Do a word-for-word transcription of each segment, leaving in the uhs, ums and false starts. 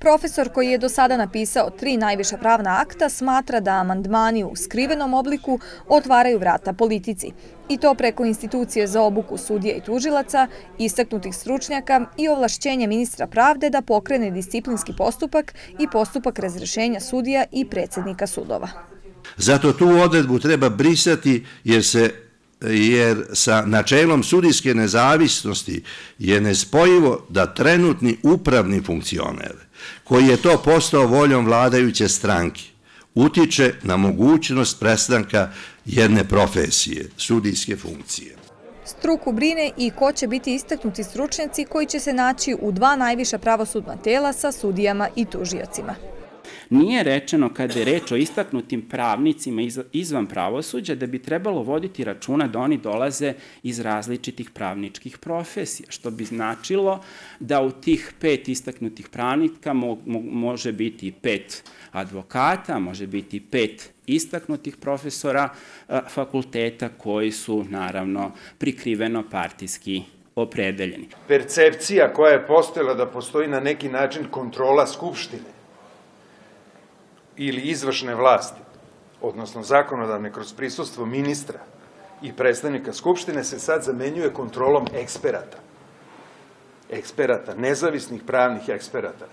Profesor koji je do sada napisao tri najviša pravna akta smatra da amandmani u skrivenom obliku otvaraju vrata politici. I to preko institucije za obuku sudija i tužilaca, istaknutih stručnjaka i ovlašćenja ministra pravde da pokrene disciplinski postupak i postupak razrješenja sudija i predsjednika sudova. Zato tu odredbu treba brisati jer se jer sa načelom sudijske nezavisnosti je nespojivo da trenutni upravni funkcioner, koji je to postao voljom vladajuće stranke, utiče na mogućnost prestanka jedne profesije, sudijske funkcije. Struku brine i ko će biti istaknuti stručnjaci koji će se naći u dva najviša pravosudna tela sa sudijama i tužiocima. Nije rečeno kada je reč o istaknutim pravnicima izvan pravosuđa da bi trebalo voditi računa da oni dolaze iz različitih pravničkih profesija, što bi značilo da u tih pet istaknutih pravnika može biti pet advokata, može biti pet istaknutih profesora fakulteta koji su naravno prikriveno partijski opredeljeni. Percepcija koja je postojala da postoji na neki način kontrola Skupštine ili izvršne vlasti, odnosno zakonodavne kroz prisustvo ministra i predstavnika Skupštine, se sad zamenjuje kontrolom eksperata. Eksperata, nezavisnih pravnih eksperata.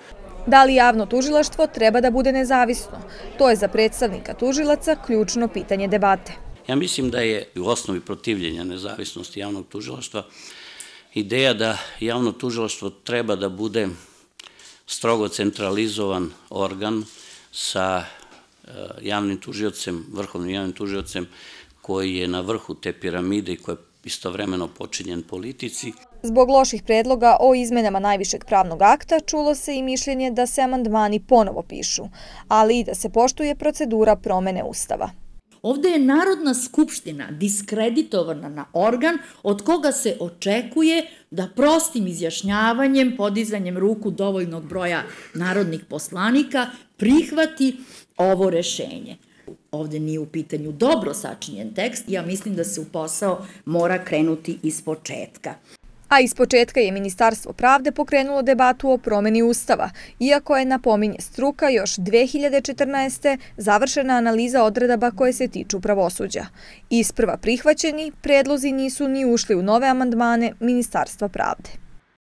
Da li javno tužilaštvo treba da bude nezavisno? To je za predstavnika tužilaca ključno pitanje debate. Ja mislim da je u osnovi protivljenja nezavisnosti javnog tužilaštva ideja da javno tužilaštvo treba da bude strogo centralizovan organ sa javnim tužiocem, vrhovnim javnim tužiocem koji je na vrhu te piramide i koji je istovremeno počinjen politici. Zbog loših predloga o izmenama najvišeg pravnog akta čulo se i mišljenje da se amandmani ponovo pišu, ali i da se poštuje procedura promene Ustava. Ovde je Narodna skupština diskreditovana na organ od koga se očekuje da prostim izjašnjavanjem, podizanjem ruku dovoljnog broja narodnih poslanika prihvati ovo rešenje. Ovde nije u pitanju dobro sačinjen tekst, ja mislim da se u posao mora krenuti iz početka. A iz početka je Ministarstvo pravde pokrenulo debatu o promeni Ustava, iako je, napominje struka, još dve hiljade četrnaeste. završena analiza odredaba koje se tiču pravosuđa. Isprva prihvaćeni, predlozi nisu ni ušli u nove amandmane Ministarstva pravde.